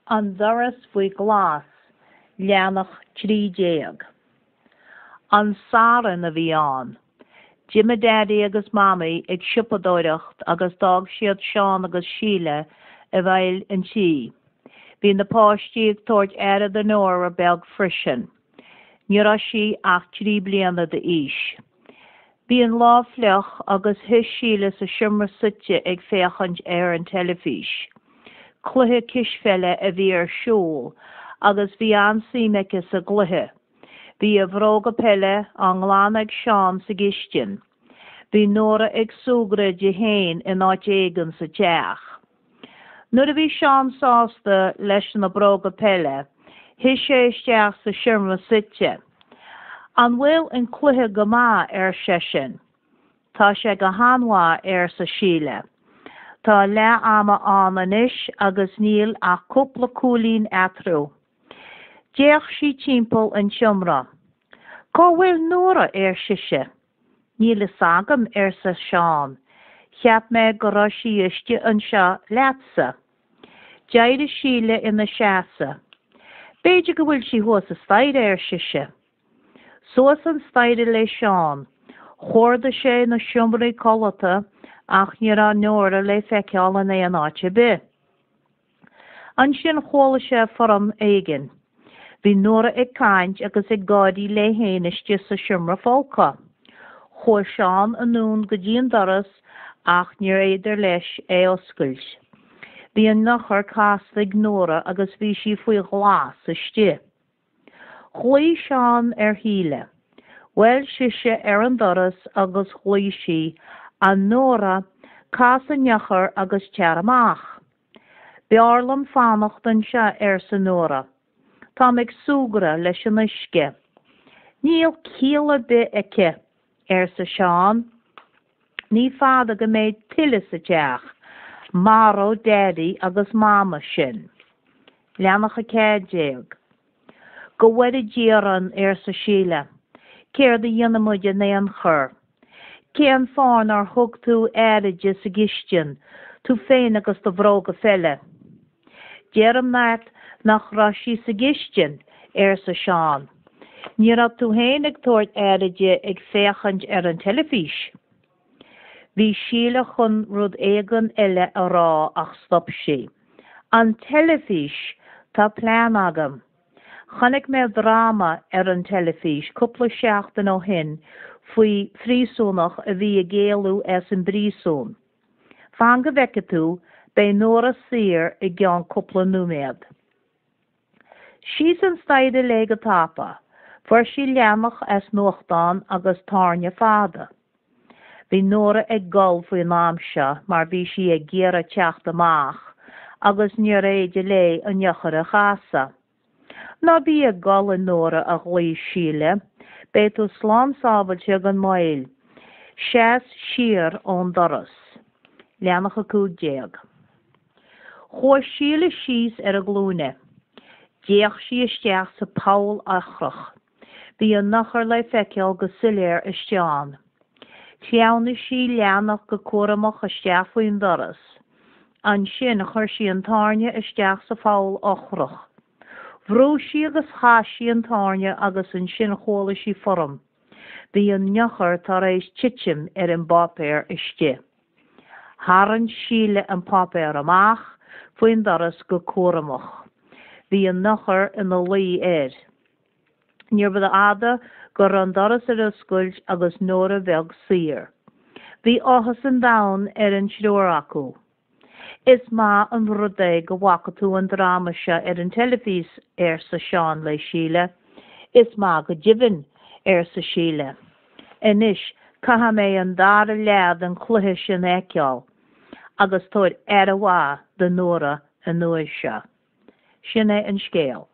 An Doras Faoi Ghlas, Leathanach 13. An Satharn a bhí ann. D'imigh Daidí agus Mamaí ag siopadóireacht agus d'fhág siad Seán agus Síle i bhfeighil an tí. Bhí na páistí ag tabhairt aire do Nóra beag freisin. Ní raibh sí ach 3 bliana d'aois. Bhí an lá fliuch agus shuigh Síle sa seomra suite ag féachaint ar an teilifís. Cluiche cispheile a bhí ar siúl agus bhí an-suim aici sa gcluiche. Bhí a bhróga peile á nglanadh ag Seán sa gcistin. Bhí Nóra ag súgradh di féin in áit éigin sa teach. Nuair a bhí Seán sásta leis na bróga peile, shuigh sé isteach sa seomra suite. An bhfuil an cluiche go maith? ar seisean. Tá sé go han-mhaith, arsa Síle. Tá leath ama ann anois agus níl ach cúpla cúilín eatarthu. D'fhéach sí timpeall an tseomra. Cá bhfuil Nóra? ar sise. Níl fhios agam, arsa Seán. Cheap mé go raibh sí istigh anseo leatsa. D'éirigh Síle ina seasamh. B'fhéidir go bhfuil sí thuas an staighre, ar sise. Suas an staighre le Seán. Chuardaigh sé na seomraí codlata ach ní raibh Nóra le feiceáil in aon áit ar bith. Ansin chuala sé foram éigin. Bhí Nóra ag caint agus ag gáirí léi féin istigh sa seomra folctha. Chuaigh Seán anonn go dtí an doras ach níorbh fhéidir leis é oscailt. Bhí an eochair casta ag Nóra agus bhí sí faoi ghlas istigh. Ghlaoigh Seán ar Shíle. Bhuail sise ar an doras agus ghlaoigh sí, 'A Nóra, cas an eochair agus tar amach. B'fhearr liom fanacht anseo, arsa Nóra. Táim ag súgradh leis an uisce. Níl ciall ar bith aici, arsa Seán. Ní fada go mbeidh tuile sa teach. Maróidh Daidí agus Mama sinn. Leathanach 14. Go bhfoire Dia orainn, arsa Síle. Céard a dhéanfaidh muid in aon chor? Cén fáth nár thug tú aire di sa gcistin, tú féin agus do bhróga pheile? Deirim leat nach raibh sí sa gcistin, arsa Seán. Ní raibh tú féin ag tabhairt aire di ag féachaint ar an teilifís. Bhí Síle chun rud éigin eile a rá ach stop sí. An teilifís! Tá plean agam. Chonaic mé dráma ar an teilifís cúpla seachtain ó shin faoi phríosúnach a bhí ag éalú as an bpríosún. Fan go bhfeicfidh tú, beidh Nóra saor i gceann cúpla nóiméad. Síos an staighre léi go tapa. Fuair sí leathanach as nuachtán agus tairne fada. Bhí Nóra ag gol faoin am seo mar bhí sí ag iarraidh teacht amach agus níorbh fhéidir léi an eochair a chasadh. Ná bí ag gol, a Nóra, a ghlaoigh Síle. Beidh tú slán sábhailte gan mhoill. Seas siar ón doras. Leathanach 15. Chuaigh Síle síos ar a glúine. D'fhéach sí isteach sa poll eochrach. Bhí an eochair le feiceáil go soiléir istigh ann. Shleamhnaigh sí leathanach go cúramach isteach faoin doras. Ansin chuir sí an tairne isteach sa pholl eochrach. Bhrúigh sí agus chas sí an tairne agus ansin chuala sí foram. Bhí an eochair tar éis titim ar an bpáipéar istigh. Tharraing Síle an páipéar amach faoin doras go cúramach. Bhí an eochair ina luí air. Níorbh fhada go raibh an doras ar oscailt agus Nóra bheag saor. Bhí áthas an domhain ar an triúr acu. Is maith an rud é go bhfaca tú an dráma seo ar an teilifís, arsa Seán le Síle. Is maith go deimhin, arsa Síle. Anois caithfidh mé an dara leath den chluiche sin a fheiceáil. Agus tabhair aire mhaith do Nóra an uair seo. Sin é an scéal.